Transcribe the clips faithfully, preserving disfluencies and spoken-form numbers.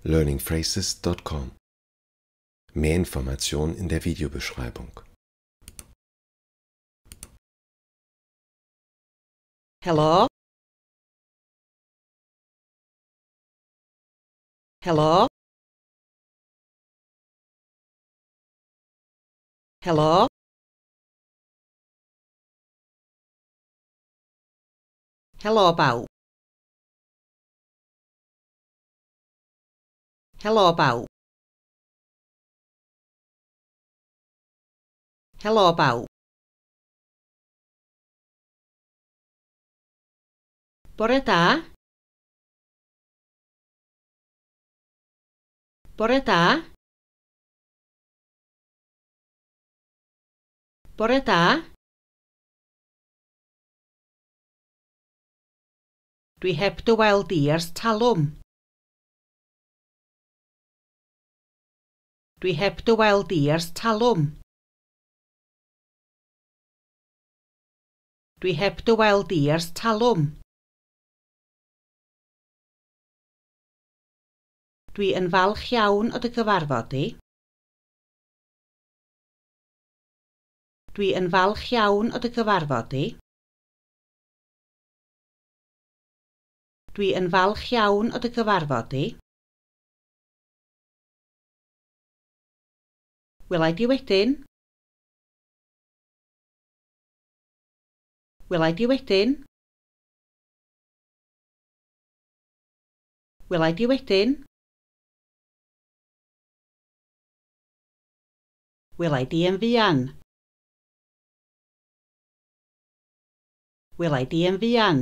learning phrases dot com. Mehr Informationen in der Videobeschreibung. Helo. Helo. Helo. Helo bawb. Helo bawb. Helo bawb. Bore da. Bore da. Bore da. Dwi heb dy weld di ers talwm. Dwi heb dy weld di ers talwm. Dwi heb dy weld di ers talwm. Dwi yn falch iawn o dy gyfarfod di. Dwi yn falch iawn o dy gyfarfod di. Dwi yn falch iawn o dy gyfarfod di. Welai di wedyn. Welai di wedyn. Welai di wedyn. Welai di yn fuan. Welai di yn fuan.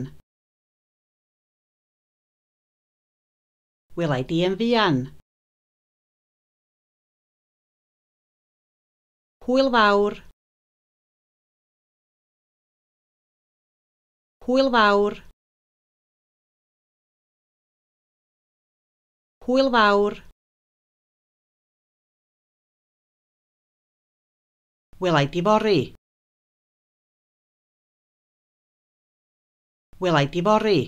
Welai di yn fuan. Hwyl fawr. Hwyl fawr. Hwyl fawr. Welai di fory. Welai di fory.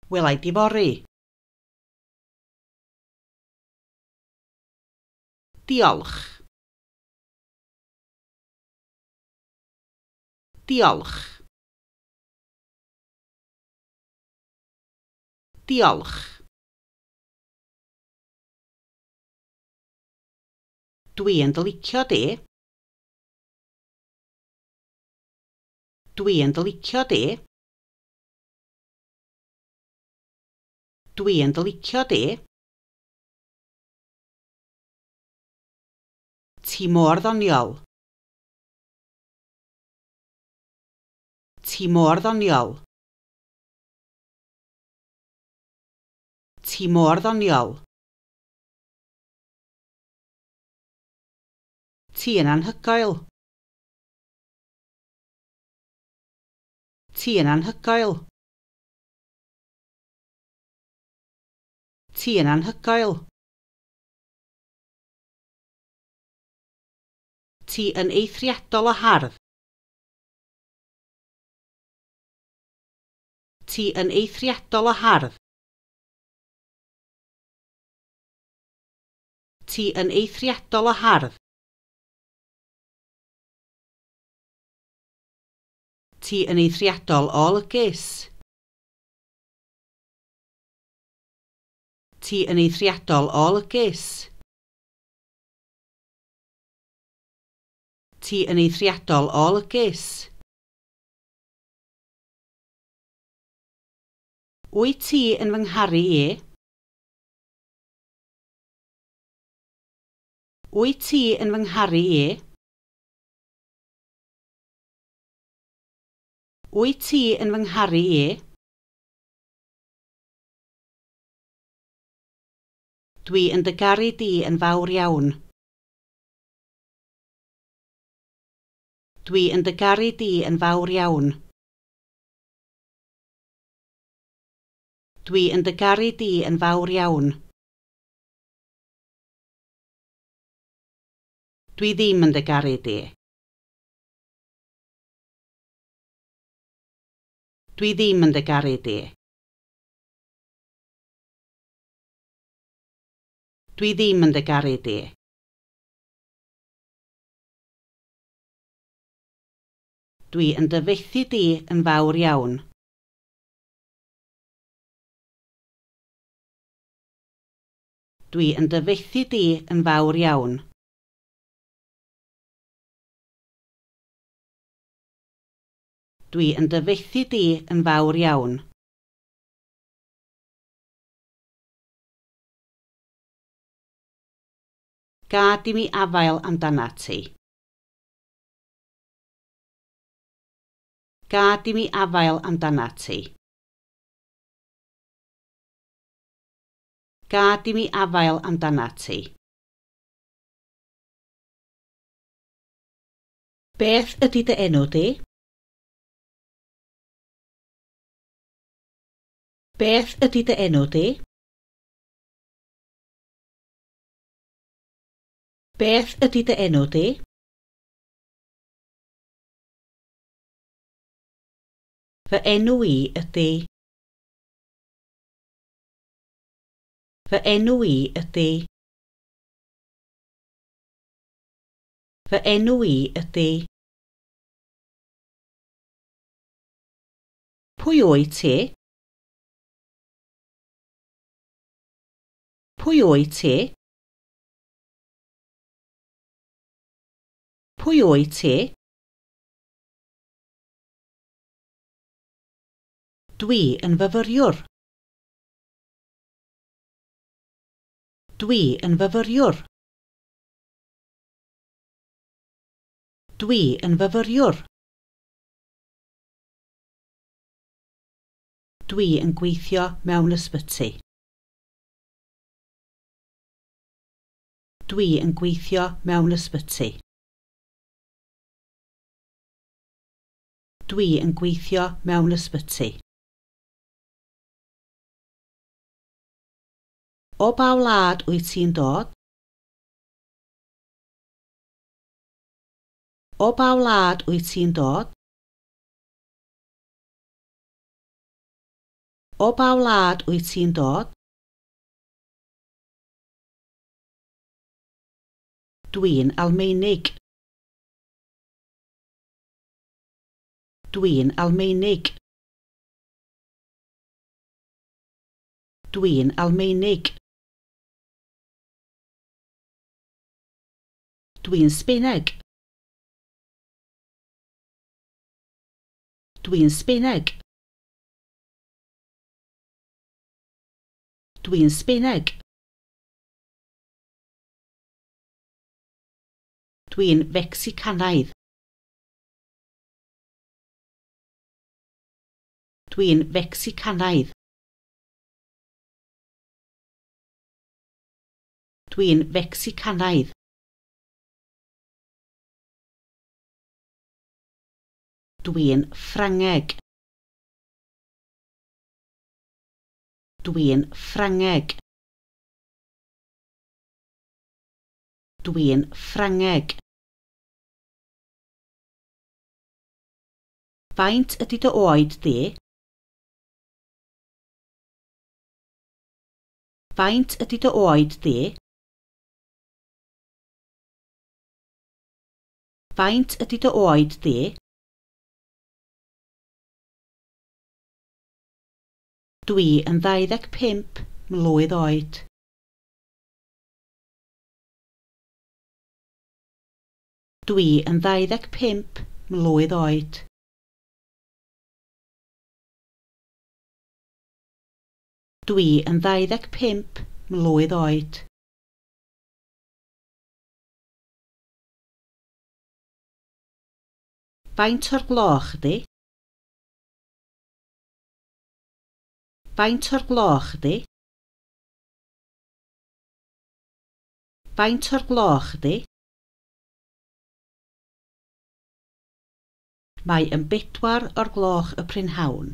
Welai di fory. Diolch. Diolch. Diolch. Dwi yn dy licio di. Dwi yn dy licio di. Dwi yn dy licio di. Ti mor ddoniol. Ti mor ddoniol. Ti mor ddoniol. Ti yn anhygoel. Ti yn anhygoel. Ti yn anhygoel. Ti yn eithriadol o hardd. Ti yn eithriadol o hardd. Ti yn eithriadol o hardd. Ti yn eithriadol o olygus. Ti yn eithriadol o olygus. Ti yn eithriadol o olygus. Wyt ti yn fy ngharu i? Wyt ti yn fy ngharu i? Wyt ti yn fy ngharu i? Dwi yn dy garu di yn fawr iawn. Dwi yn dy garu di yn fawr iawn. Dwi yn dy garu di yn fawr iawn. Dwi ddim yn dy garu di. Dwi ddim yn dy garu di. Dwi ddim yn dy garu di. Dwi yn dy fethu di yn fawr iawn. Dwi yn dy fethu di yn fawr iawn. Dwi yn dy fethu di yn fawr iawn. Gad i mi afael amdanat ti. Gad i mi afael amdanat ti. Gad i mi afael amdanat ti. Beth ydy dy enw di? Beth ydy dy enw di? Beth ydy dy enw di? Fy enw i ydy. Fy enw i ydy. Fy enw i ydy. Pwy wyt ti? Pwy wyt ti? Pwy wyt ti? Dwi yn fyfyriwr. Dwi yn fyfyriwr. Dwi yn fyfyriwr. Dwi yn gweithio mewn ysbyty. Dwi yn gweithio mewn ysbyty. Dwi yn gweithio mewn ysbyty. O ba wlad wyt ti'n dod? O ba wlad wyt ti'n dod? O ba wlad wyt ti'n dod? Dwi'n Almaenig. Dwi'n Almaenig. Dwi'n Almaenig. Dwi'n Sbaeneg. Dwi'n Sbaeneg. Dwi'n Sbaeneg. Dwi'n Fecsicanaidd. Dwi'n Fecsicanaidd. Dwi'n Fecsicanaidd. Dwi'n Ffrangeg. Dwi'n Ffrangeg. Dwi'n Ffrangeg. Faint ydy dy oed di? Faint ydy dy oed di? Faint ydy dy oed di? Dwi yn ddau ddeg pump mlwydd oed. Dwi yn ddau ddeg pump mlwydd oed. Dwi yn ddau ddeg pump mlwydd oed. Faint o'r gloch ydy? Faint o'r gloch ydy? Faint o'r gloch ydy? Mae yn bedwar o'r gloch y prynhawn.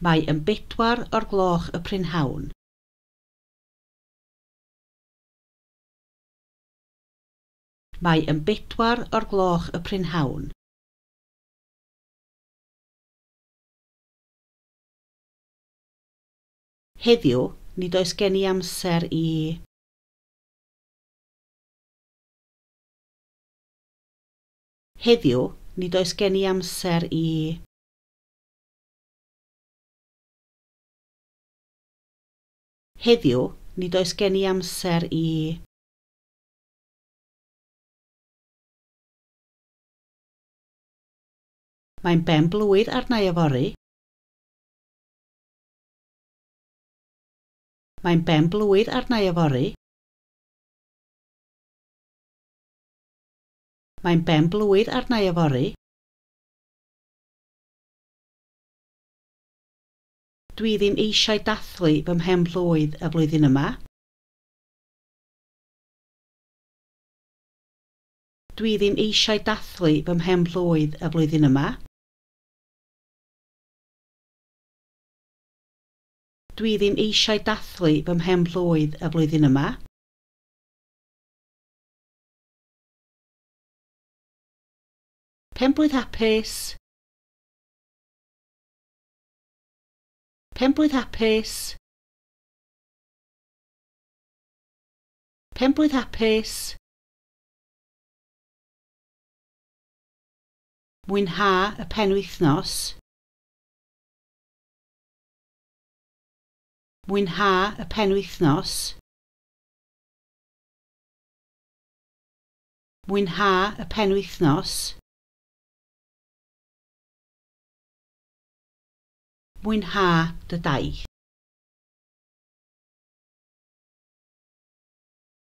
Mae yn bedwar o'r gloch y prynhawn. Mae yn bedwar o'r gloch y prynhawn. Heddiw, nid oes gen i amser i... Heddiw, nid oes gen i amser i... Heddiw, nid oes gen i amser i... Mae'n ben-blwydd arna i yfory. Mae'n ben-blwydd arna i yfory. Mae'n ben-blwydd arna i yfory. Dwi ddim eisiau dathlu fy mhen-blwydd y flwyddyn yma. Dwi ddim eisiau dathlu fy mhen-blwydd y flwyddyn yma. Dwi ddim eisiau dathlu fy mhen-blwydd y flwyddyn yma. Penblwydd hapus. Penblwydd hapus. Penblwydd hapus. Mwynha y penwythnos. Mwynha y penwythnos. Mwynha y penwythnos. Mwynha dy daith.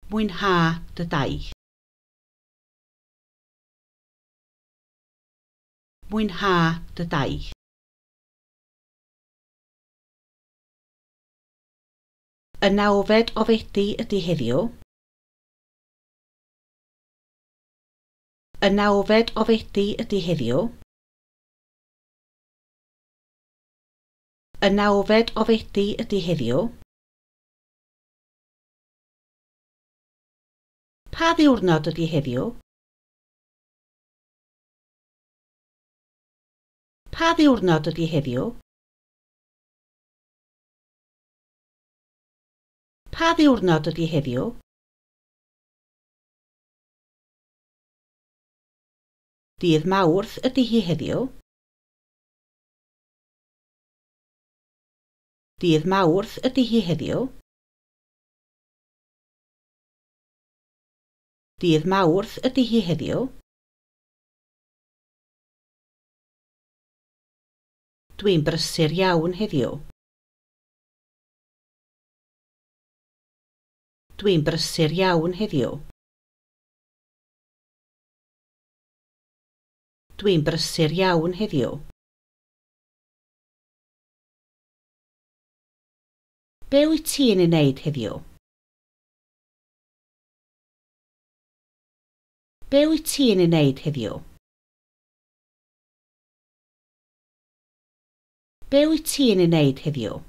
Mwynha dy daith. Mwynha dy daith. Y nawfed o Fedi ydy heddiw. Y nawfed o Fedi ydy heddiw. Y nawfed o Fedi ydy heddiw. Pa ddiwrnod ydy heddiw? Pa ddiwrnod ydy heddiw? Pa ddiwrnod ydy heddiw? Dydd Mawrth ydy hi heddiw. Dydd Mawrth ydy hi heddiw. Dydd Mawrth ydy hi heddiw. Dwi'n brysur iawn heddiw. Dwi'n brysur iawn heddiw. Dwi'n brysur iawn heddiw. Be wyt ti'n ei wneud heddiw? Be wyt ti'n ei wneud heddiw? Be wyt ti'n ei wneud heddiw?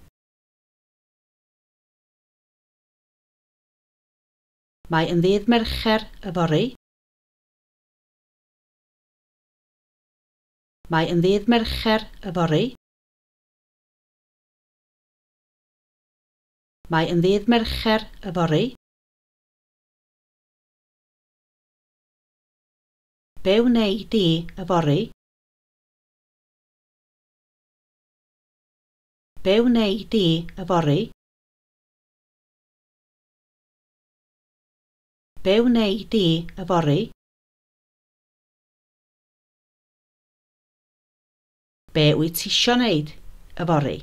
Mae yn ddydd Mercher yfory. Mae yn ddydd Mercher yfory. Mae yn ddydd Mercher yfory. Be wnei di yfory? Be wnei di yfory? Be wnei di yfory? Be wyt ti isio wneud yfory?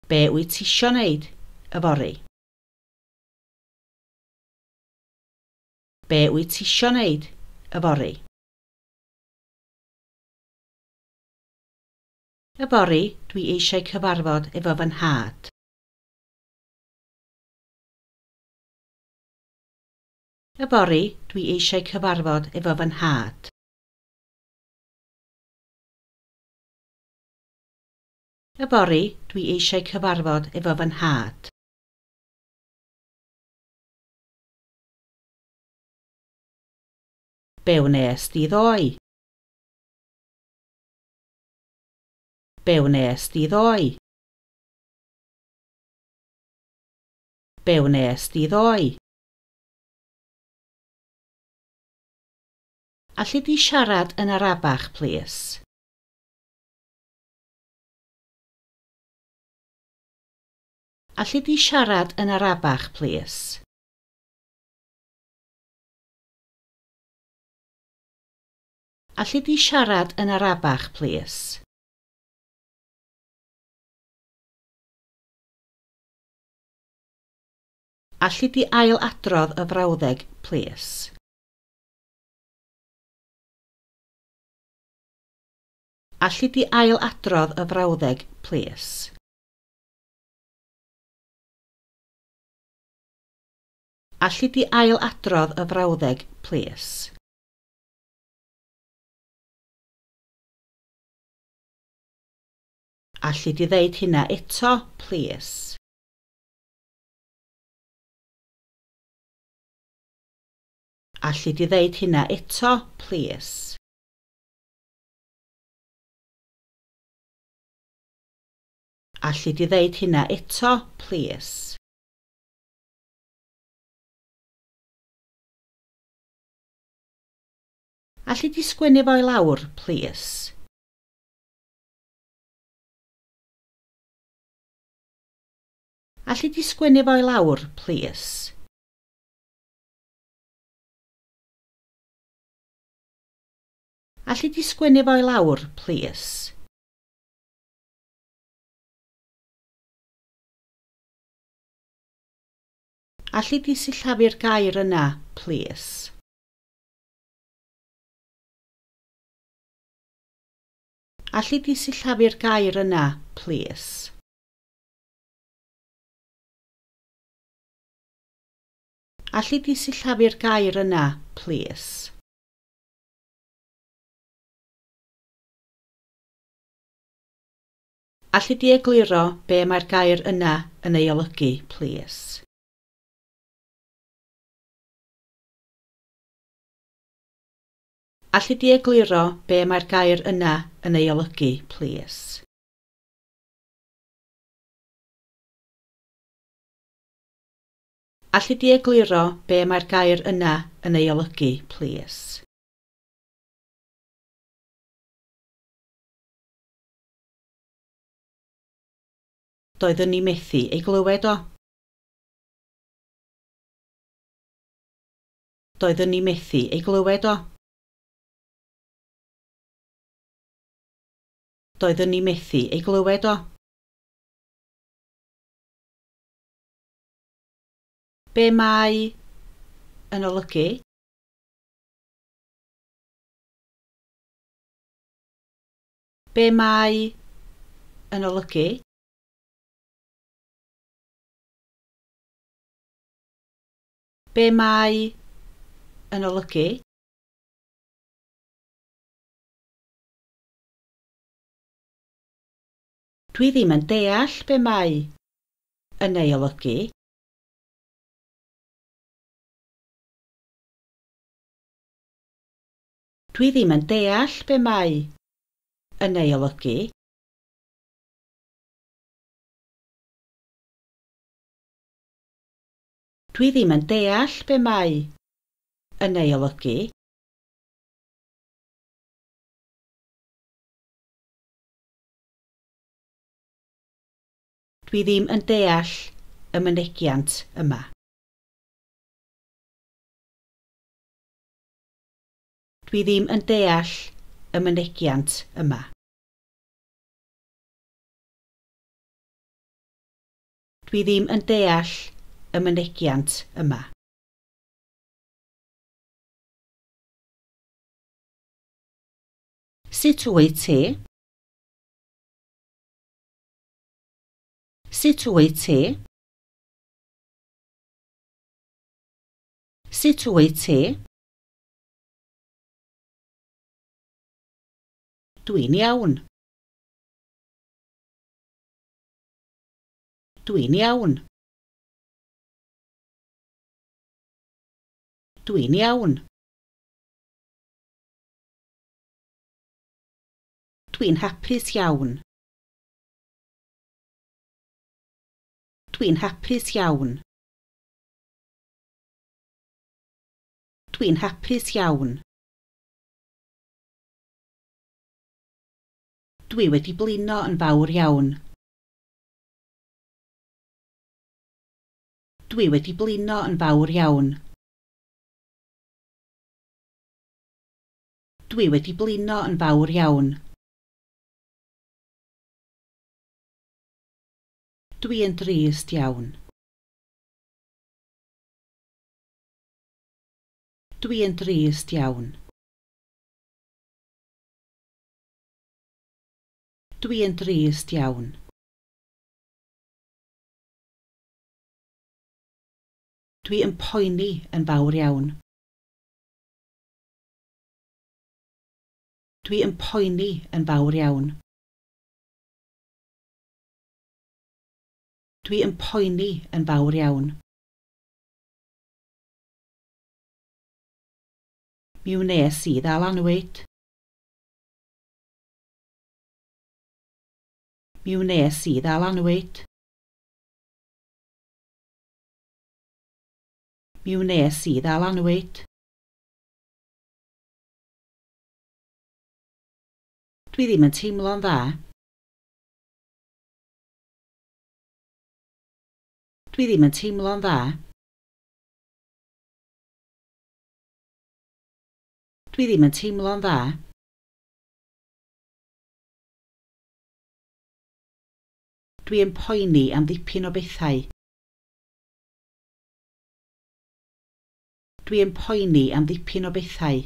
Be wyt ti isio wneud yfory? Be wyt ti isio wneud yfory? Yfory, dwi eisiau cyfarfod efo fy nhad. Yfory, dwi eisiau cyfarfod efo fy nhad. Yfory, dwi eisiau cyfarfod efo fy nhad. Be wnes di ddoe? Be wnes di ddoe? Be wnes di ddoe? Alli di siarad yn arafach, plîs? Alli di siarad yn arafach, plîs? Alli di siarad yn arafach, plîs? Alli di ailadrodd y frawddeg, plîs? Alli di ailadrodd y frawddeg, plîs? Alli di ailadrodd y frawddeg, plîs? Alli di ddeud hynna eto, plîs? Alli di ddeud hynna eto, plîs? Alli di ddeud hynna eto, plîs? Alli di sgwennu fo i lawr, plîs? Alli di sgwennu fo i lawr, plîs? Alli di sgwennu fo i lawr, plîs? Alli di sillafu'r gair yna, plîs? Alli di sillafu'r gair yna, plîs? Alli di sillafu'r gair yna, plîs? Alli di egluro be mae'r gair yna yn ei olygu, plîs? Alli di egluro be mae'r gair yna yn ei olygu, plîs? Alli di egluro be mae'r gair yna yn ei olygu, plîs? Doeddwn i methu ei glywed o. Doeddwn i methu ei glywed o. Doeddwn i methu ei glywed o. Be mae yn olygu? Be mae yn olygu? Be mae yn olygu? Dwi ddim yn deall be mae yn ei olygu. Dwi ddim yn deall be mae yn ei olygu. Dwi ddim yn deall be mae yn ei olygu. Dwi ddim yn deall y mynegiant yma. Dwi ddim yn deall y mynegiant yma. Dwi ddim yn deall y mynegiant yma. Sut wyt ti? Sut wyt ti? Sut wyt ti? Dwi'n iawn. Dwi'n iawn. Dwi'n iawn. Dwi'n hapus iawn. Dwi'n hapus iawn. Dwi'n hapus iawn. Dwi wedi blino yn fawr iawn. Dwi wedi blino yn fawr iawn. Dwi wedi blino yn fawr iawn. Dwi yn drist iawn. Dwi yn drist iawn. Dwi yn drist iawn. Dwi yn poeni yn fawr iawn. Dwi yn poeni yn fawr iawn. Dwi yn poeni yn fawr iawn. Mi wnes i ddal annwyd. Mi wnes i ddal annwyd. Mi wnes i ddal annwyd. Dwi ddim yn teimlo'n dda. Dwi ddim yn teimlo'n dda. Dwi ddim yn teimlo'n dda. Dwi yn poeni am ddipyn o bethau. Dwi yn poeni am ddipyn o bethau.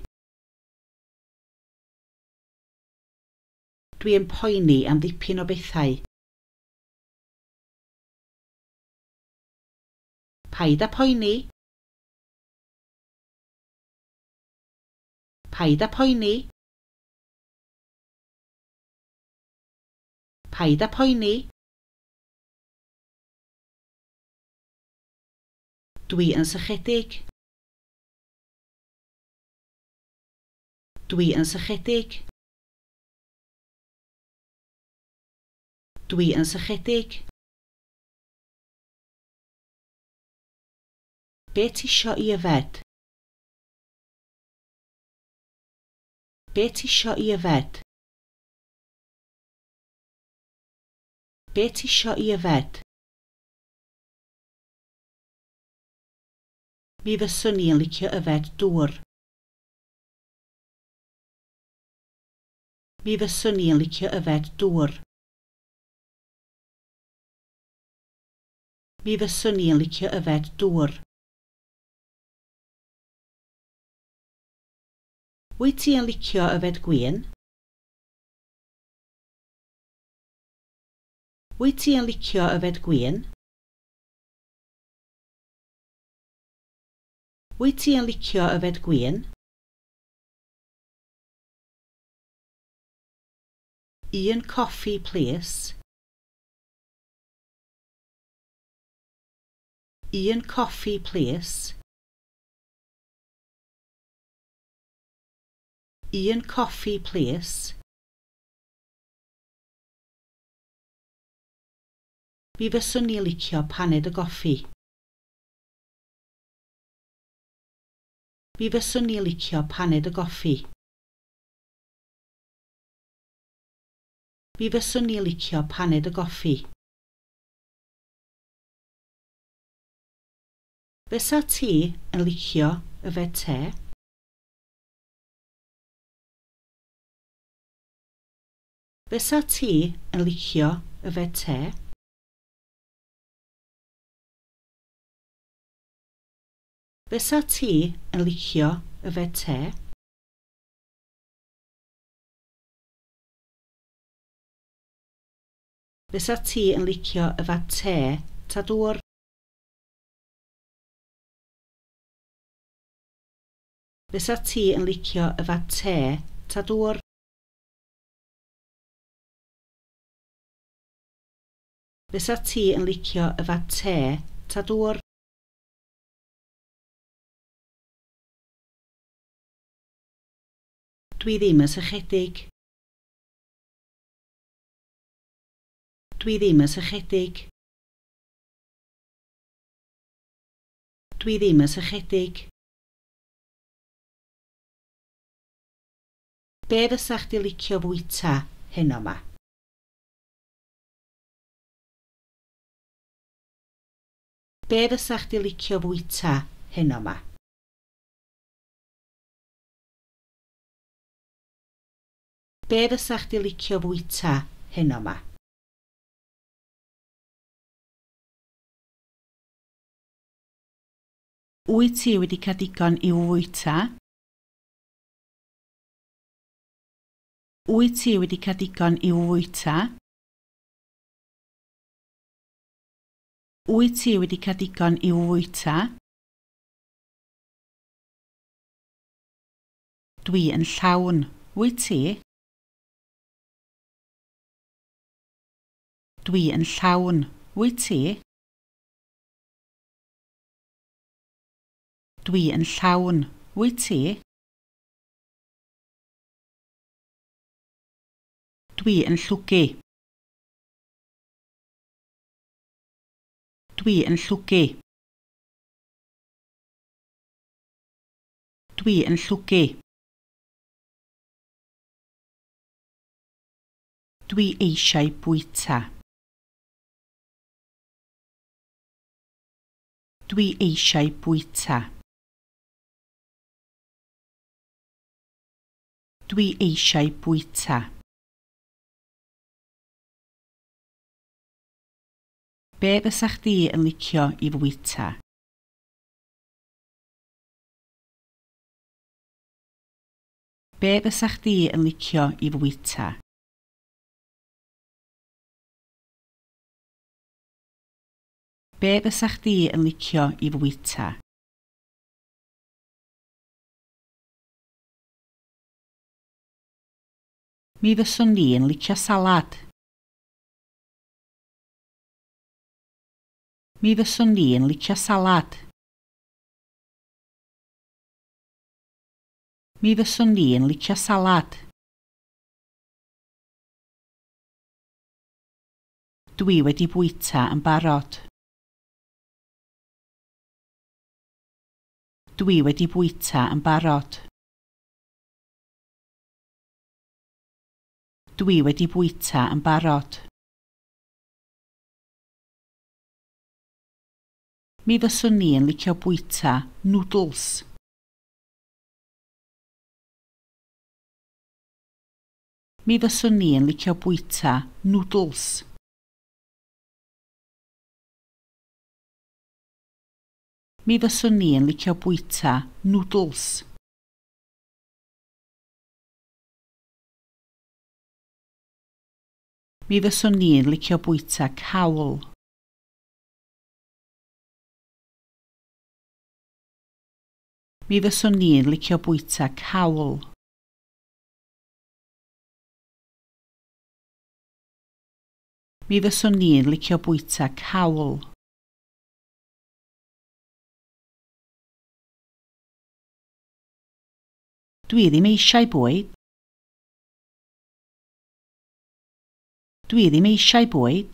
Dwi yn poeni am ddipyn o bethau. Paid â poeni. Paid â poeni. Paid â poeni. Dwi yn sychedig. Dwi yn sychedig. Dwi yn sychedig. Be ti isio i yfed? Be ti isio i yfed? Be ti isio i yfed? Mi fyswn i yn licio yfed dŵr. Mi fyswn i yn licio yfed dŵr. Mi fyswn i yn licio yfed dŵr. Wyt ti yn licio yfed gwin? Wyt ti yn licio yfed gwin? Wyt ti yn licio yfed gwin? Un coffi, plîs. Un coffi, plîs. Un coffi, plîs. Mi fyswn i licio paned o goffi. Mi fyswn i licio paned o goffi. Mi fyswn i licio paned o goffi. Fysa ti yn licio yfed te? Fysa ti yn licio yfed te? Fysa ti yn licio yfed te? Fysa ti yn licio yfed te ta dŵr? Fysa ti yn licio yfed te ta dŵr? Fysa ti yn licio yfed te ta dŵr? Dwi ddim yn sychedig. Dwi ddim yn sychedig. Dwi ddim yn sychedig. Be fysa chdi licio fwyta heno 'ma? Be fysa chdi licio fwyta heno 'ma? Be fysa chdi licio fwyta heno 'ma? Wyt ti wedi cael digon i'w fwyta? Wyt ti wedi cael digon i'w fwyta? Wyt ti wedi cael digon i'w fwyta? Dwi yn llawn. Wyt ti? Dwi yn llawn. Wyt ti? Dwi yn llawn. Wyt ti? Dwi yn llwgu. Dwi yn llwgu. Dwi yn llwgu. Dwi eisiau bwyta. Dwi eisiau bwyta. Dwi eisiau bwyta. Be fysa chdi yn licio i fwyta? Be fysa chdi yn licio i fwyta? Be fysa chdi yn licio i fwyta? Mi fyswn i'n licio salad. Mi fyswn i'n licio salad. Mi fyswn i'n licio salad. Dwi wedi bwyta yn barod. Dwi wedi bwyta yn barod. Dwi wedi bwyta yn barod. Mi fyswn i'n licio bwyta nwdls. Mi fyswn i'n licio bwyta nwdls. Mi fyswn i'n licio bwyta nwdls. Mi fyswn i'n licio bwyta cawl. Mi fyswn i'n licio bwyta cawl. Mi fyswn i'n licio bwyta cawl. Dwi ddim eisiau bwyd. Dwi ddim eisiau bwyd.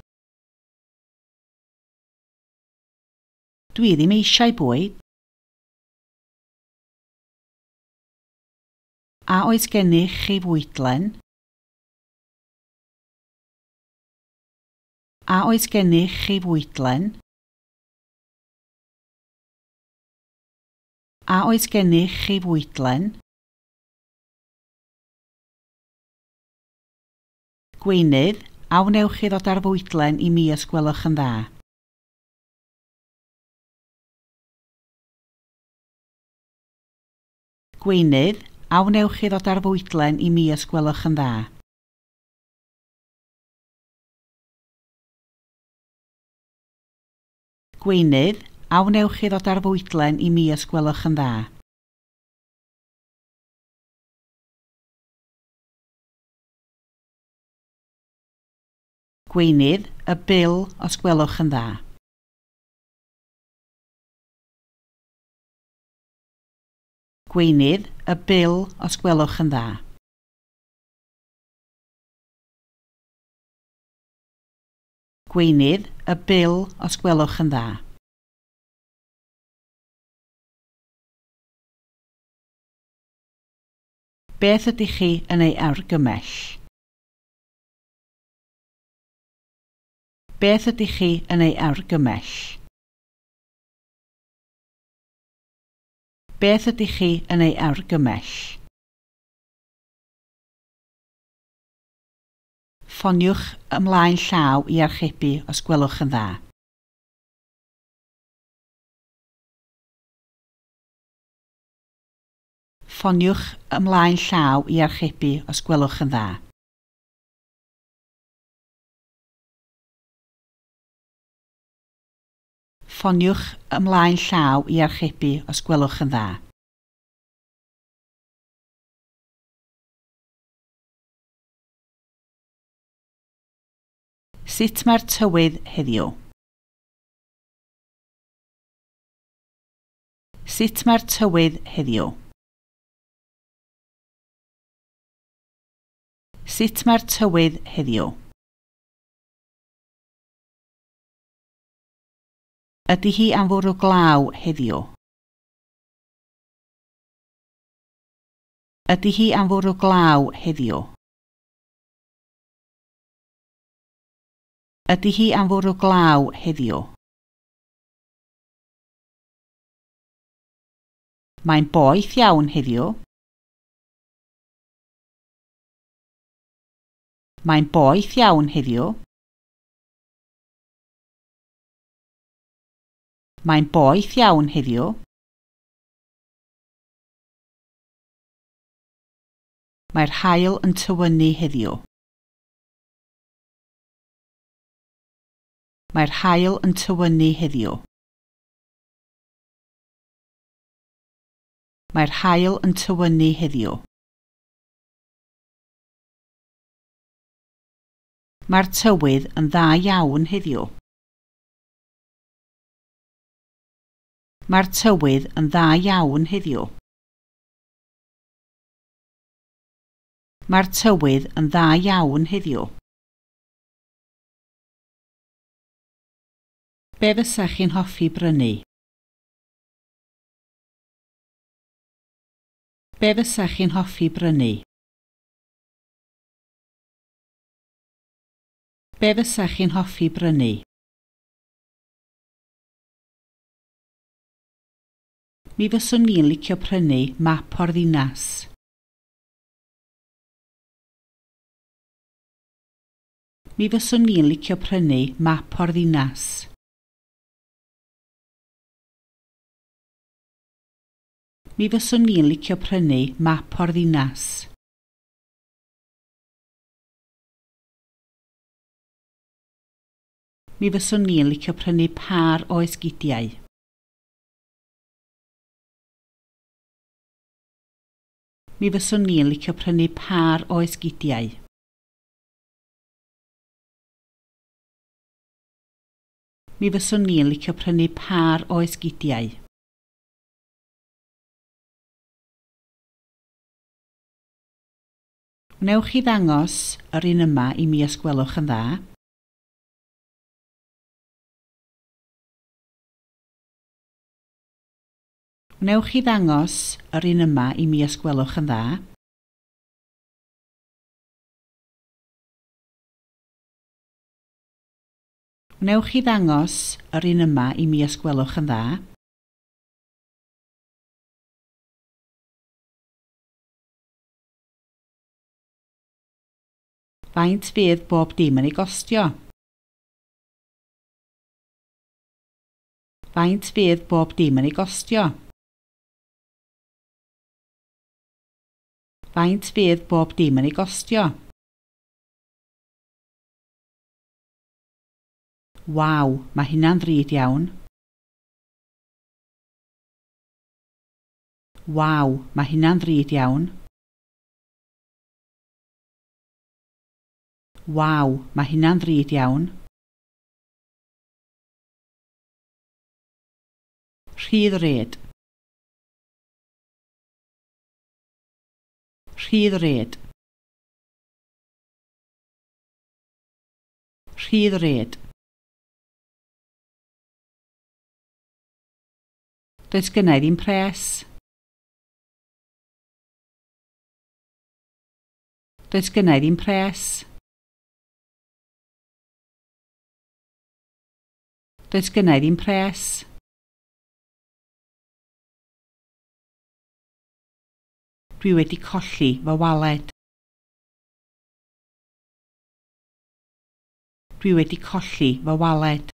Dwi ddim eisiau bwyd. A oes gennych chi fwydlen? A oes gennych chi fwydlen? A oes gennych chi fwydlen? Gweinydd, a wnewch chi ddod â'r fwydlen i mi os gwelwch yn dda? Gweinydd, a wnewch chi ddod â'r fwydlen i mi os gwelwch yn dda? Gweinydd, a wnewch chi ddod â'r fwydlen i mi os gwelwch yn dda? Gweinydd, y bil os gwelwch yn dda. Gweinydd, y bil os gwelwch yn dda. Gweinydd, y bil os gwelwch yn dda. Beth ydych chi yn ei argymell? Beth ydych chi yn ei argymell? Beth ydych chi yn ei argymell? Ffoniwch ymlaen llaw i archebu os gwelwch yn dda. Ffoniwch ymlaen llaw i archebu os gwelwch yn dda. Ffoniwch ymlaen llaw i archebu os gwelwch yn dda. Sut mae'r tywydd heddiw? Sut mae'r tywydd heddiw? Sut mae'r tywydd heddiw? Ydy hi am fwrw glaw heddiw? Ydy hi am fwrw glaw heddiw? Ydy hi am fwrw glaw heddiw? Mae'n boeth iawn heddiw. Mae'n boeth iawn heddiw. Mae'n boeth iawn heddiw. Mae'r haul yn tywynnu heddiw. Mae'r haul yn tywynnu heddiw. Mae'r haul yn tywynnu heddiw. Mae'r tywydd yn dda iawn heddiw. Mae'r tywydd yn dda iawn heddiw. Mae'r tywydd yn dda iawn heddiw. Be fysach chi'n hoffi brynu? Be fysach chi'n hoffi brynu? Be fysach chi'n hoffi brynu? Mi fyswn i'n licio prynu map o'r ddinas. Mi fyswn i'n licio prynu map o'r ddinas. Mi fyswn i'n licio prynu map o'r ddinas. Mi fyswn i'n licio prynu pâr o esgidiau. Mi fyswn i'n licio prynu pâr o esgidiau. Mi fyswn i'n licio prynu pâr o esgidiau. Wnewch chi ddangos yr un yma i mi os gwelwch yn dda? Wnewch chi ddangos yr un yma i mi os gwelwch yn dda? Wnewch chi ddangos yr un yma i mi os gwelwch yn dda? Faint fydd bob dim yn ei gostio? Faint fydd bob dim yn ei gostio? Faint fydd bob dim yn ei gostio? Waw, mae hynna'n ddrud iawn. Waw, mae hynna'n ddrud iawn. Waw, mae hynna'n ddrud iawn. Rhy ddrud. Rhy ddrud. Rhy ddrud. Does gynna i ddim pres. Does gynna i ddim pres. Does gynna i ddim pres. Dwi wedi colli fy waled. Dwi wedi colli fy waled.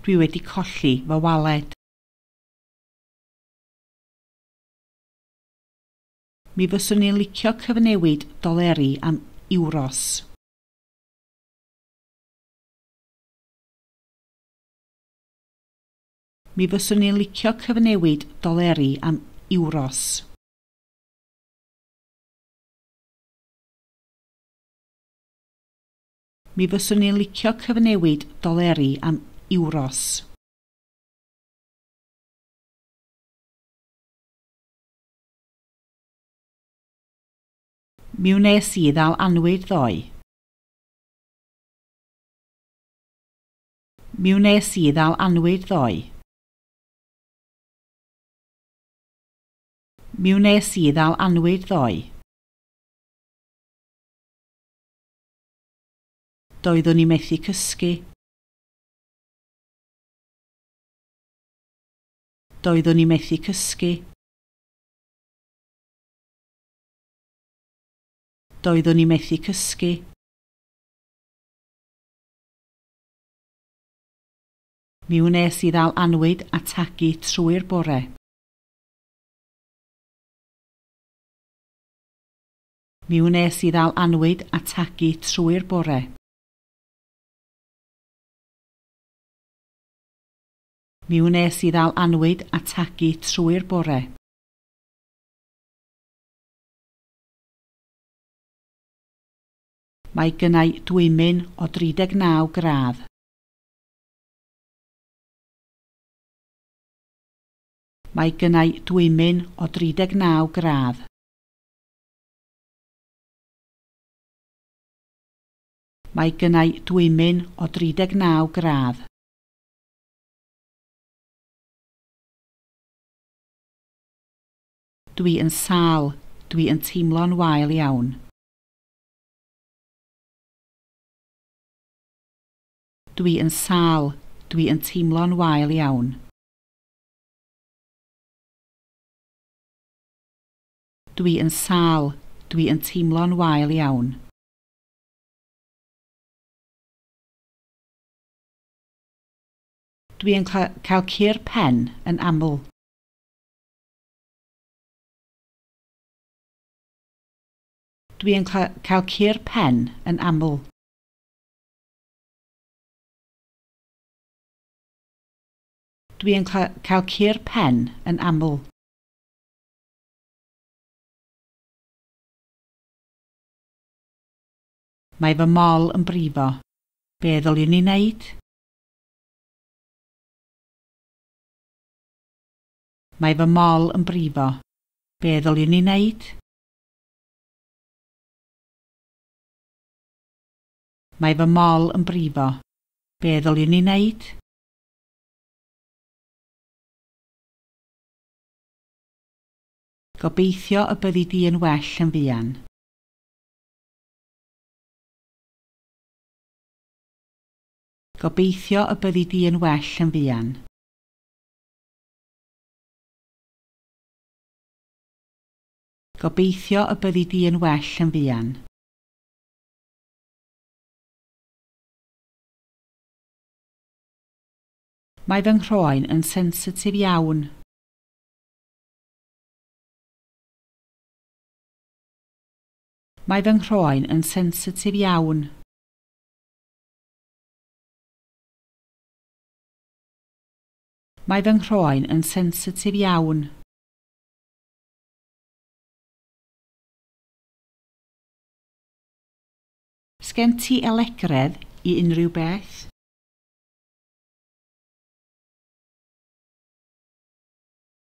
Dwi wedi colli fy waled. Mi fyswn i'n licio cyfnewid doleri am euros. Mi fyswn i'n licio cyfnewid doleri am euros. Mi fyswn i'n licio cyfnewid doleri am euros. Mi wnes i ddal annwyd ddoe. Mi wnes i ddal annwyd ddoe. Mi wnes i ddal annwyd ddoe. Doeddwn i methu cysgu. Doeddwn i methu cysgu. Doeddwn i methu cysgu. Mi wnes i ddal annwyd a tagu trwy'r bore. Mi wnes i ddal annwyd a tagu trwy'r bore. Mi wnes i ddal annwyd a tagu trwy'r bore. Mae gynna i dwymyn o dri deg naw gradd. Mae gynna i dwymyn o dri deg naw gradd. Mae gynna i dwymyn o dri deg naw gradd. Dwi yn sâl, dwi yn teimlo'n wael iawn. Dwi yn sâl, dwi yn teimlo'n wael iawn. Dwi yn sâl, dwi yn teimlo'n wael iawn. Dwi yn cael cur pen yn aml. Dwi yn cael cur pen yn aml. Dwi yn cael cur pen yn aml. Mae fy mol yn brifo. Be ddylwn i wneud? Mae fy mol yn brifo. Be ddylwn i wneud? Mae fy mol yn brifo. Be ddylwn i wneud? Gobeithio y byddi di yn well yn fuan. Gobeithio y byddi di yn well yn fuan. Gobeithio y byddi di yn well yn fuan. Mae fy nghroen yn sensitif iawn. Mae fy nghroen yn sensitif iawn. Mae fy nghroen yn sensitif iawn. Sgen ti alegredd i unrhyw beth?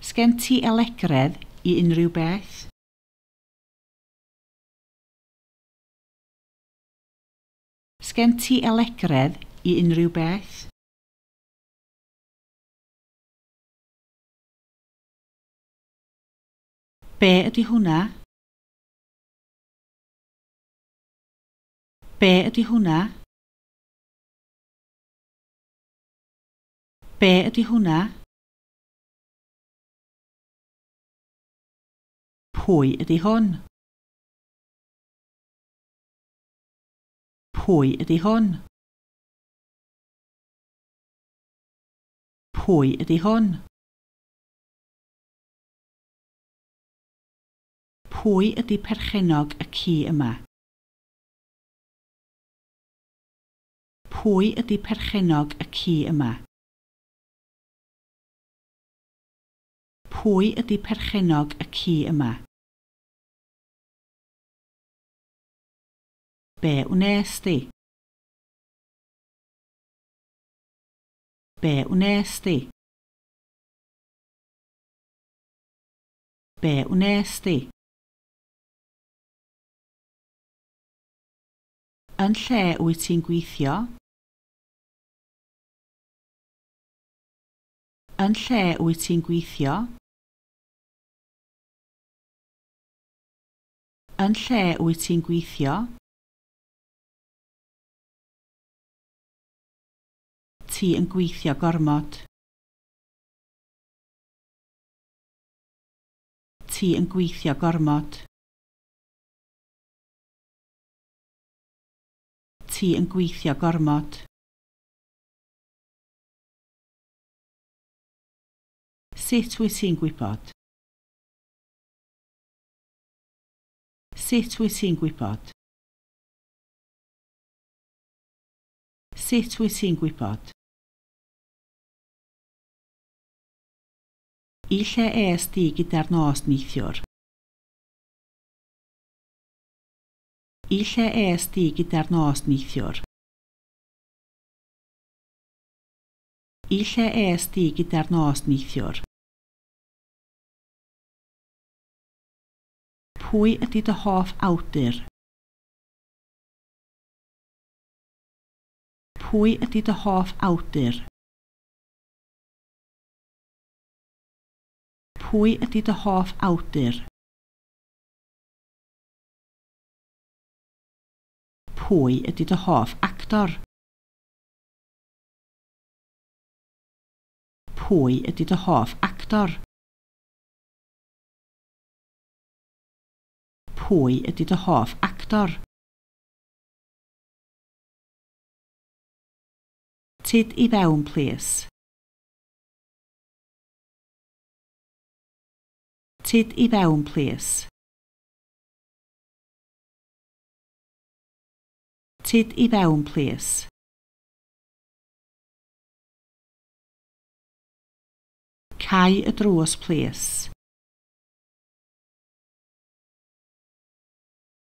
Sgen ti alegredd i unrhyw beth? Sgen ti alegredd i unrhyw beth? Be ydy hwnna? Be ydy hwnna? Be ydy hwnna? Pwy ydy hwn? Pwy ydy hwn? Pwy ydy hwn? Pwy ydy perchennog y ci yma? Pwy ydy perchennog y ci yma? Pwy ydy perchennog y ci yma? Be wnes di? Be wnes di? Be wnes di? Yn lle wyt ti'n gweithio? Yn lle wyt ti'n gweithio? Yn lle wyt ti'n gweithio? Ti yn gweithio gormod. Ti yn gweithio gormod. Ti yn gweithio gormod. Sut wyt ti'n gwybod? Sut wyt ti'n gwybod? Sut wyt ti'n gwybod? I lle es di gyda'r nos neithiwr? I lle es di gyda'r nos neithiwr? I lle es di gyda'r nos neithiwr? Pwy ydy dy hoff awdur? Pwy ydy dy hoff awdur? Pwy ydy dy hoff awdur? Pwy ydy dy hoff actor? Pwy ydy dy hoff actor? Pwy ydy dy hoff actor? Tyd i fewn, plîs. Tyd i fewn, plîs. Tyd i fewn, plîs. Cau y drws, plîs.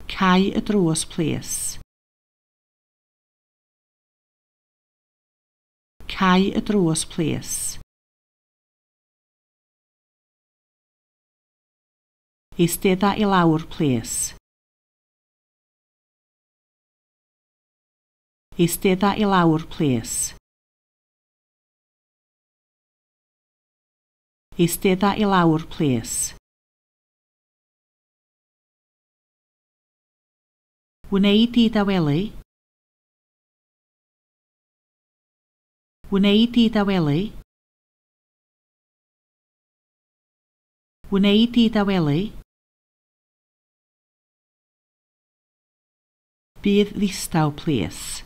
Cau y drws, plîs. Cau y drws, plîs. Eistedda i lawr, plîs. Eistedda i lawr, plîs. Eistedda i lawr, plîs. Wnei di dawelu? Wnei di dawelu? Wnei di dawelu? Bydd ddistaw, plîs.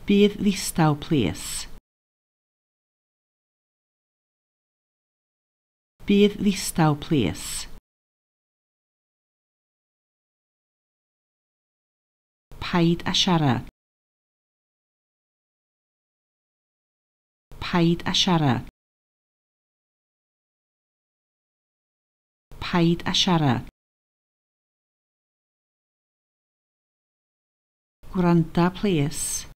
Bydd ddistaw, plîs. Bydd ddistaw, plîs. Paid â siarad. Paid â siarad. Paid â siarad. Gwranda, plîs.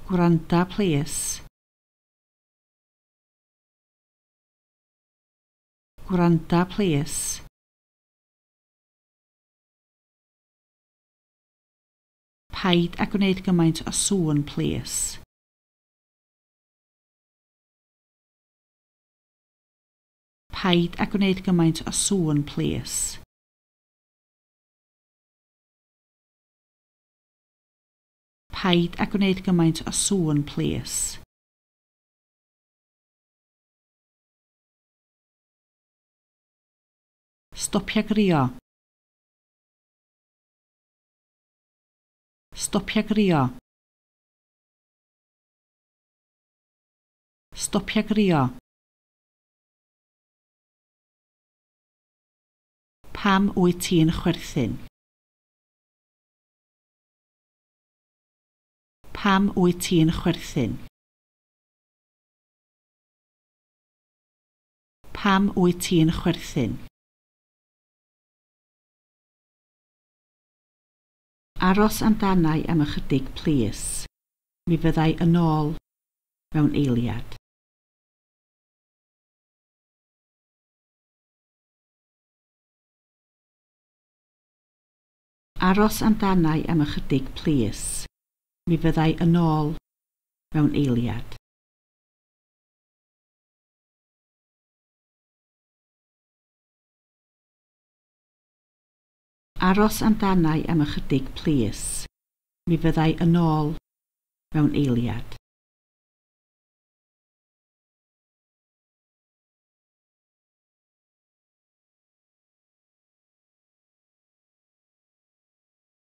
Gwranda, plîs. Gwranda, plîs. Paid â gwneud gymaint o sŵn, plîs. Paid â gwneud gymaint o sŵn plîs. Paid â gwneud gymaint o sŵn plîs. Stopia grio. Stopia grio. Stopia grio. Pam wyt ti'n chwerthin? Pam wyt ti'n chwerthin? Pam wyt ti'n chwerthin? Aros amdanai am ychydig, plîs. Mi fyddai yn ôl mewn eiliad. Aros amdanai am ychydig, plîs. Mi fyddai yn ôl mewn eiliad. Aros amdanai am ychydig, plîs. Mi fyddai yn ôl mewn eiliad.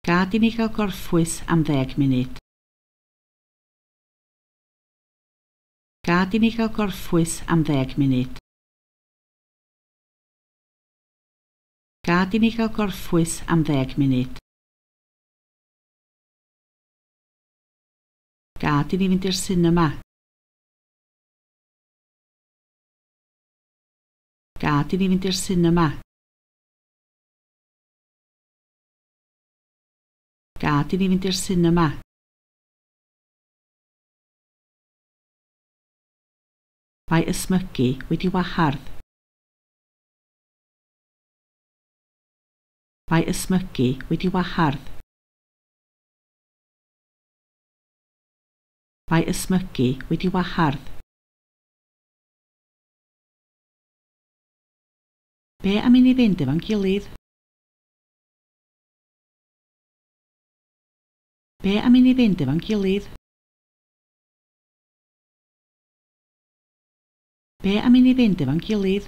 Gad i ni gael gorffwys am ddeg munud. Gad i ni gael gorffwys am ddeg munud. Gad i ni gael gorffwys am ddeg munud. Gad i ni fynd i'r sinema. Gad i ni fynd i'r sinema. Gad i ni fynd i'r sinema. Mae ysmygu wedi wahardd. Mae ysmygu wedi wahardd. Mae ysmygu wedi wahardd. Be am i ni fynd efo'n gilydd? Be am i ni fynd efo'n gilydd? Be am i ni fynd efo'n gilydd?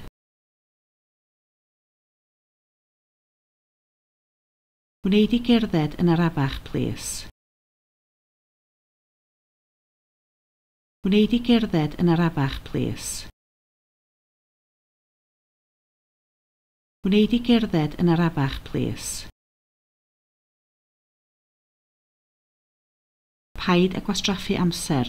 Wnei di gerdded yn arafach, plîs? Wnei di gerdded yn arafach, plîs? Wnei di gerdded yn arafach, plîs? Paid â gwastraffu amser.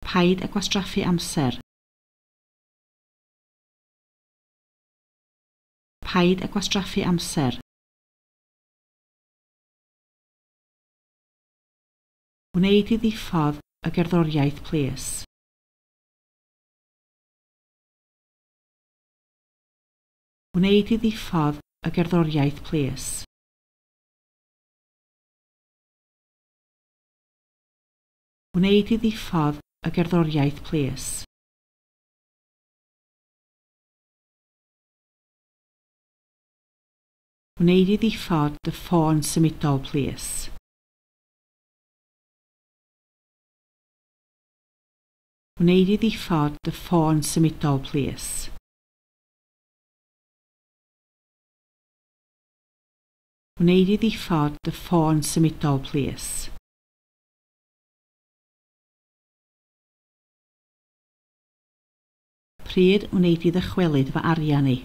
Paid â gwastraffu amser. Paid â gwastraffu amser. Wnei di ddiffodd y gerddoriaeth, plîs? Wnei di ddiffodd y gerddoriaeth, plîs? Wnei di ddiffodd y gerddoriaeth, plîs? Wnei di ddiffodd dy ffôn symudol, plîs? Wnei di ddiffodd dy ffôn symudol, plîs? Wnei di ddiffodd dy ffôn symudol, plîs? Pryd wnei di ddychwelyd fy arian i?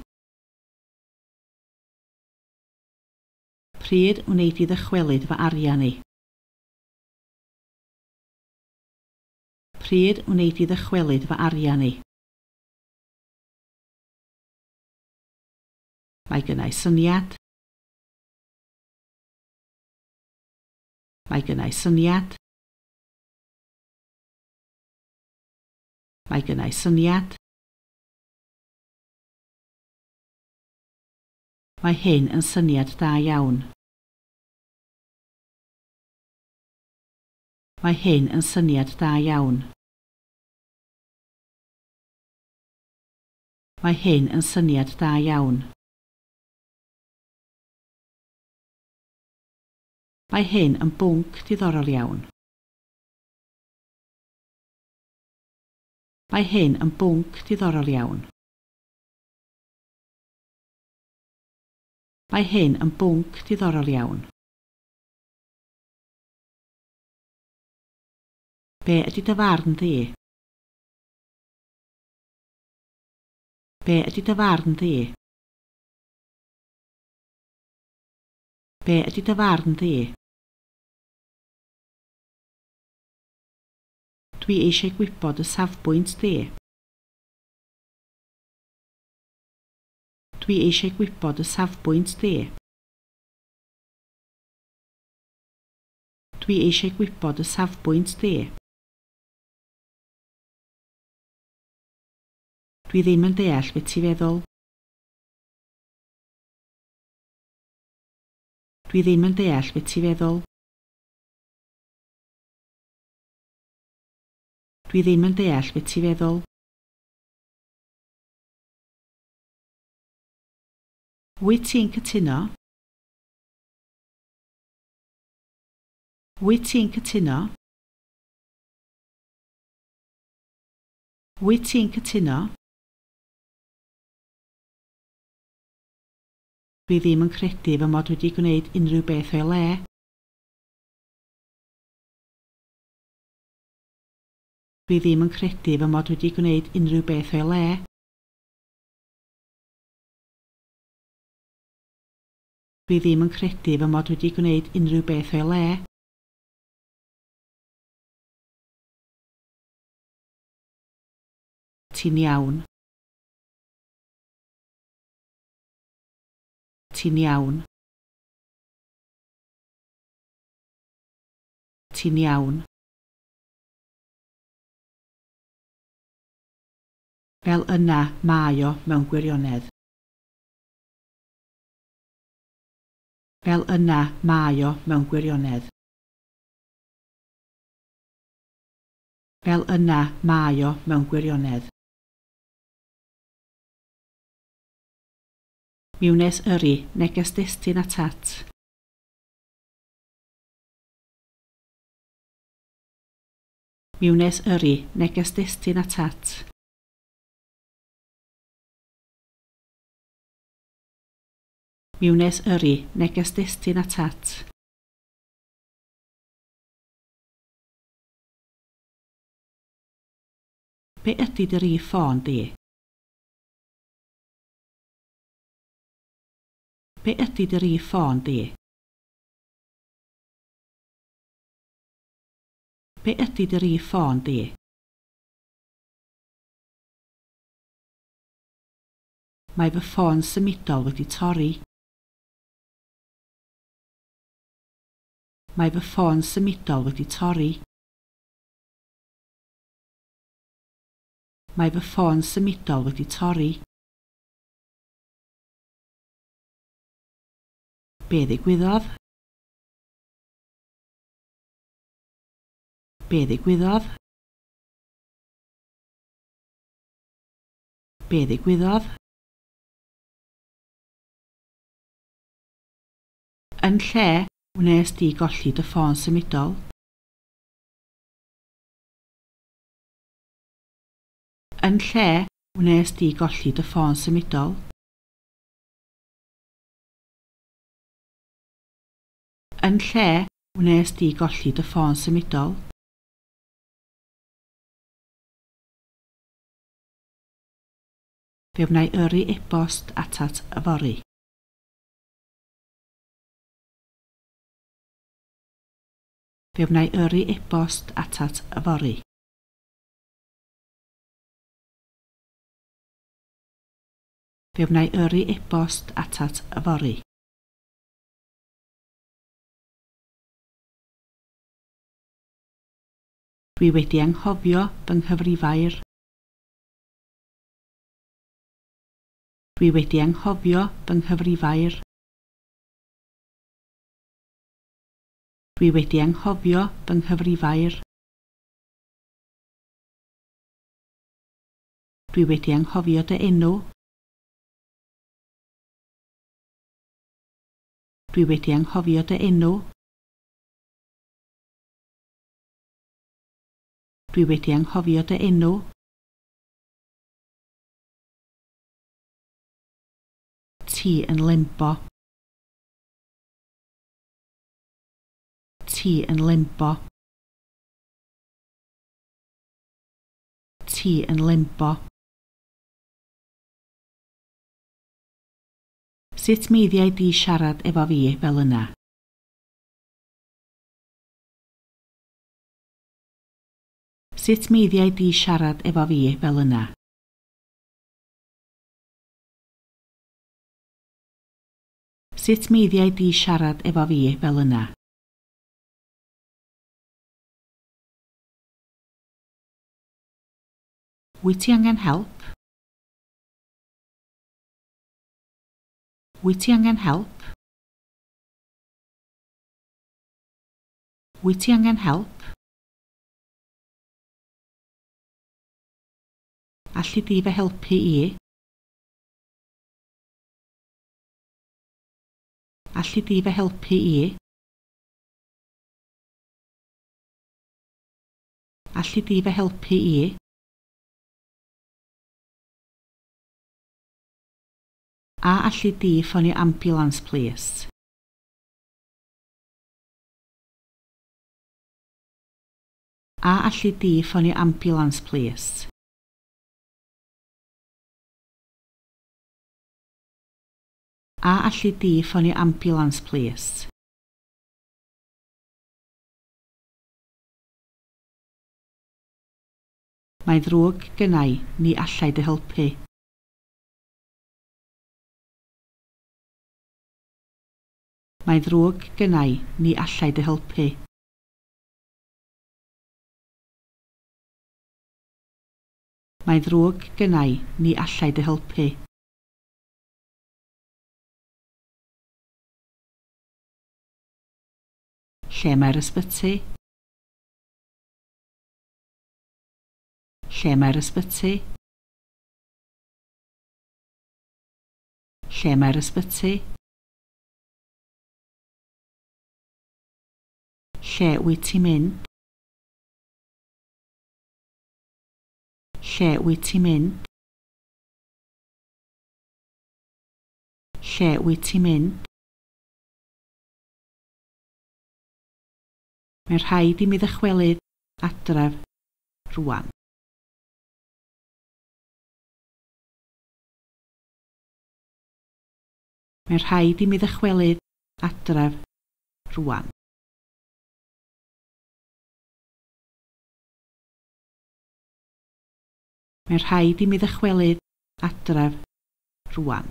Pryd wnei di ddychwelyd fy arian i? Pryd wnei di ddychwelyd fy arian i? Mae gynna i syniad. Mae gynna i syniad. Mae gynna i syniad. Mae hyn yn syniad da iawn. Mae hyn yn syniad da iawn. Mae hyn yn syniad da iawn. Mae hyn yn bwnc diddorol iawn. Mae hyn yn bwnc diddorol iawn. Mae hyn yn bwnc diddorol iawn. Be ydy dy farn di? Be ydy dy farn di? Be ydy dy farn di? Dwi eisiau gwybod y safbwynt di. Dwi eisiau gwybod y safbwynt di. Dwi eisiau gwybod y safbwynt di. Dwi ddim yn deall beth ti'n feddwl. Dwi ddim yn deall beth ti'n feddwl. Dwi ddim yn deall beth ti'n feddwl. Wyt ti'n cytuno? Wyt ti'n cytuno? Wyt ti'n cytuno? Dwi ddim yn credu fy mod wedi gwneud unrhyw beth o'i le. Dwi ddim yn credu fy mod wedi gwneud unrhyw beth o'i le. Dwi ddim yn credu fy mod wedi gwneud unrhyw beth o'i le. Ti'n iawn. Ti'n iawn. Ti'n iawn. Fel yna mae o mewn gwirionedd. Fel yna mae o mewn gwirionedd. Fel yna mae o mewn gwirionedd. Mi wnes yrru neges destun atat. Mi wnes yrru neges destun atat. Mi wnes yrru neges destun atat. Be ydy dy rif ffôn di? Be ydy dy rif ffôn di? Be ydy dy rif ffôn di? Mae fy ffôn symudol wedi torri. Mae fy ffôn symudol wedi torri. Mae fy ffôn symudol wedi torri. Be ddigwyddodd? Be ddigwyddodd? Be ddigwyddodd? Yn lle wnes di golli dy ffôn symudol? Yn lle wnes di golli dy ffôn symudol? Yn lle wnes di golli dy ffôn symudol? Fe wna i yrru e-bost atat yfory. Fe wna i yrru e-bost atat yfory. Fe wna i yrru e-bost atat yfory. Dwi wedi anghofio fy nghyfrifair. Dwi wedi anghofio fy nghyfrifair. Dwi wedi anghofio fy nghyfrifair. Dwi wedi anghofio dy enw. Dwi wedi anghofio dy enw. Dwi wedi anghofio dy enw. Ti yn limbo. Ti yn limbo. Ti yn limbo. Sut meiddiai di siarad efo fi fel yna? Sut meiddiai di siarad efo fi fel yna? Sut meiddiai di siarad efo fi fel yna? Wyt ti angen help? Wyt ti angen help? Wyt ti angen help? Alli di fy helpu i? Alli di fy helpu i? Alli di fy helpu i? A alli di ffonio ambiwlans plîs? A alli di ffonio ambiwlans plîs? A alli di ffonio ambiwlans plîs? Mae'n ddrwg genna i, ni allai dy helpu. Mae'n ddrwg genna i, ni allai dy helpu. Mae'n ddrwg genna i, ni allai dy helpu. Lle mae'r ysbyty? Lle mae'r ysbyty? Lle mae'r ysbyty? Lle wyt ti'n mynd? Lle wyt ti'n mynd? Lle wyt ti'n mynd? Mae'n rhaid i mi ddychwelyd adref rŵan. Mae'n rhaid i mi ddychwelyd adref rŵan. Mae'n rhaid i mi ddychwelyd adref rŵan.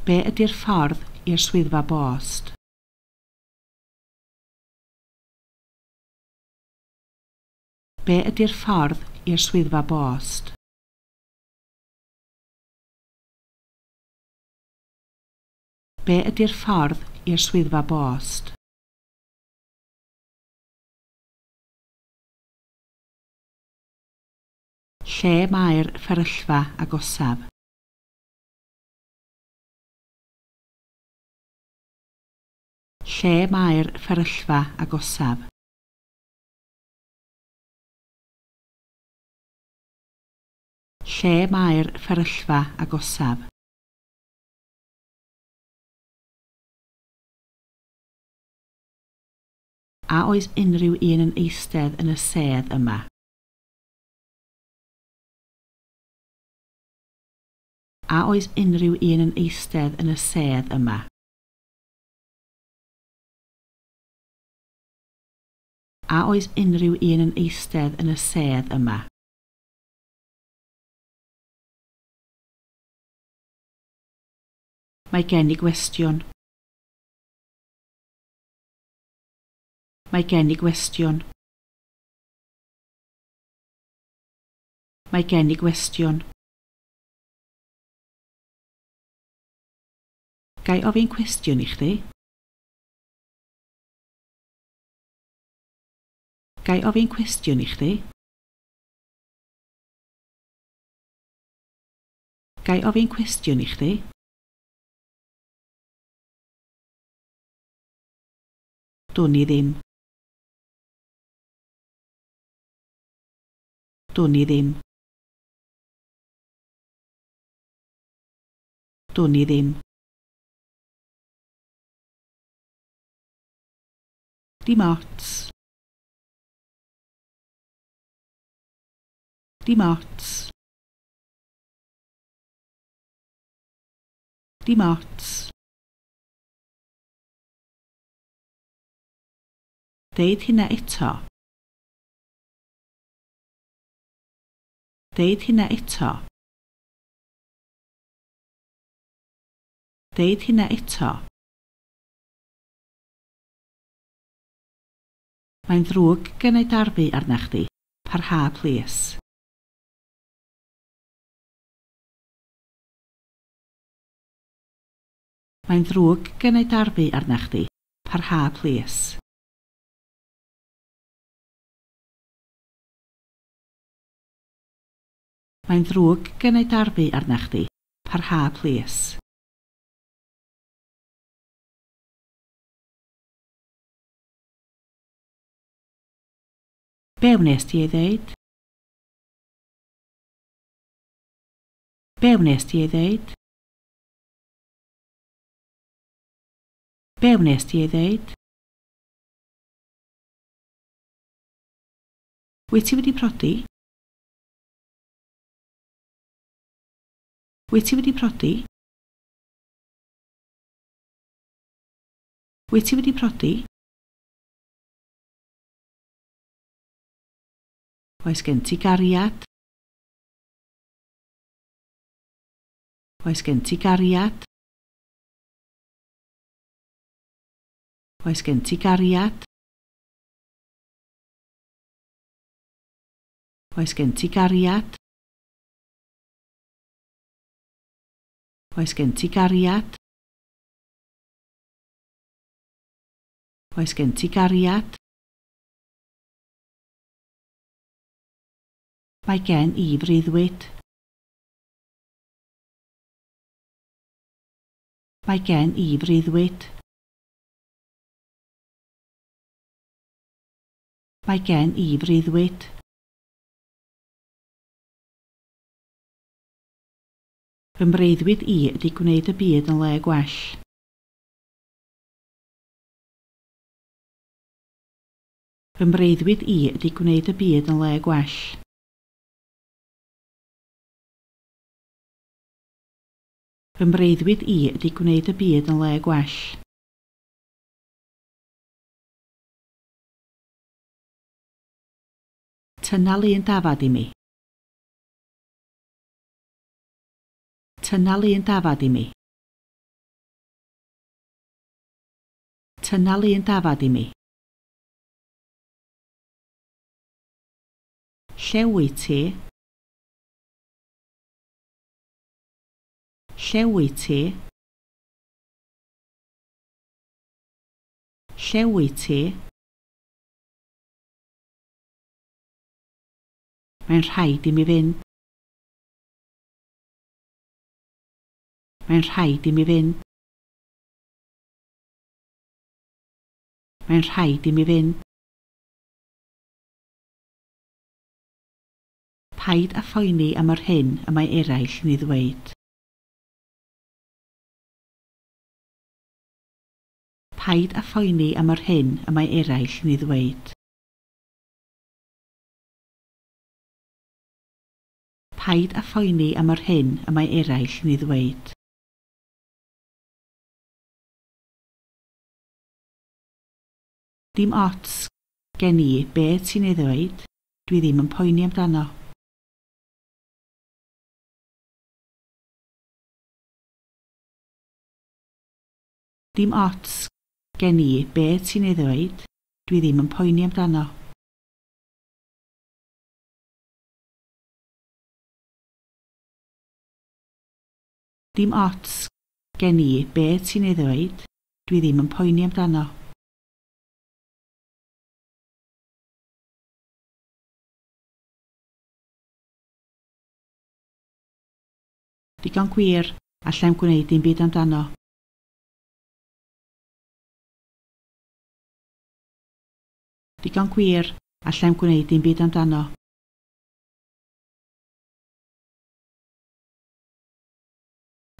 Be ydy'r ffordd i'r swyddfa bost? Be ydy'r ffordd i'r swyddfa bost? Be ydy'r ffordd i'r swyddfa bost? Lle mae'r fferyllfa agosaf? Lle mae'r fferyllfa agosaf? Lle mae'r fferyllfa agosaf? A oes unrhyw un yn eistedd yn y sedd yma? A oes unrhyw un yn eistedd yn y sedd yma? A oes unrhyw un yn eistedd yn y sedd yma? Mae gen i gwestiwn. Mae gen i gwestiwn. Mae gen i gwestiwn. Ga i ofyn cwestiwn i chdi? Ga i ofyn cwestiwn i chdi? Ga i ofyn cwestiwn i chdi? Dwn i ddim. Dwn i ddim. Dwn i ddim. Dim ots. Dim ots. Dim ots. Deud hynna eto. Deud hynna eto. Deud hynna eto. Mae'n ddrwg gen i darfu arna chdi. Parha, plîs. Mae'n ddrwg gen i darfu arna chdi. Parha, plîs. Mae'n ddrwg gen i darfu arna chdi. Parha, plîs. Be wnes ti ei ddeud? Be wnes ti ei ddeud? Be wnes ti ei ddeud? Wyt ti wedi prodi? Wyt ti wedi prodi? Wyt ti wedi prodi? Oes gen ti gariad? Oes gen ti gariad? Oes gen ti gariad? Oes gen ti gariad? Oes gen ti gariad? Oes gen ti gariad? Mae gen i freuddwyd. Mae gen i freuddwyd. Mae gen i freuddwyd. Fy mreuddwyd i ydy gwneud y byd yn le gwell. Fy mreuddwyd i ydy gwneud y byd yn le gwell. Fy mreuddwyd i ydy gwneud y byd yn le gwell. Tynna lun dafad i mi. Tynna lun dafad i mi. Tynna lun dafad i mi. Lle wyt ti? Lle wyt ti? Lle wyt ti? Mae'n rhaid i mi fynd. Mae'n rhaid i mi fynd. Mae'n rhaid i mi fynd. Paid â phoeni am yr hyn y mae eraill yn ei ddweud. Paid â phoeni am yr hyn y mae eraill yn ei ddweud. Paid â phoeni am yr hyn y mae eraill yn ei ddweud. Dim ots gen i be ti'n ei ddweud, dwi ddim yn poeni amdano. Dim ots gen i be ti'n ei ddweud, dwi ddim yn poeni amdano. Dim ots gen i be ti'n ei ddweud, dwi ddim yn poeni amdano. Digon gwir, allai'm gwneud dim byd amdano. Digon gwir, allai'm gwneud dim byd amdano.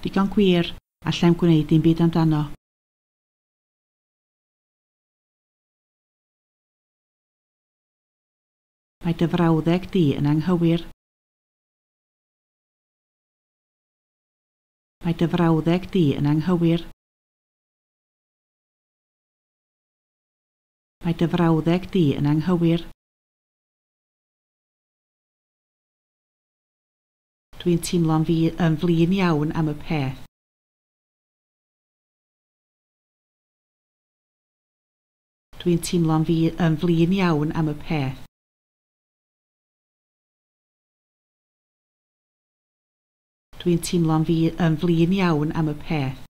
Digon gwir, allai'm gwneud dim byd amdano. Mae dy frawddeg di yn anghywir. Mae dy frawddeg di yn anghywir. Mae dy frawddeg di yn anghywir. Dwi'n teimlo'n yn flin iawn am y peth. Dwi'n teimlo'n yn flin iawn am y peth. Dwi'n teimlo'n yn flin iawn am y peth.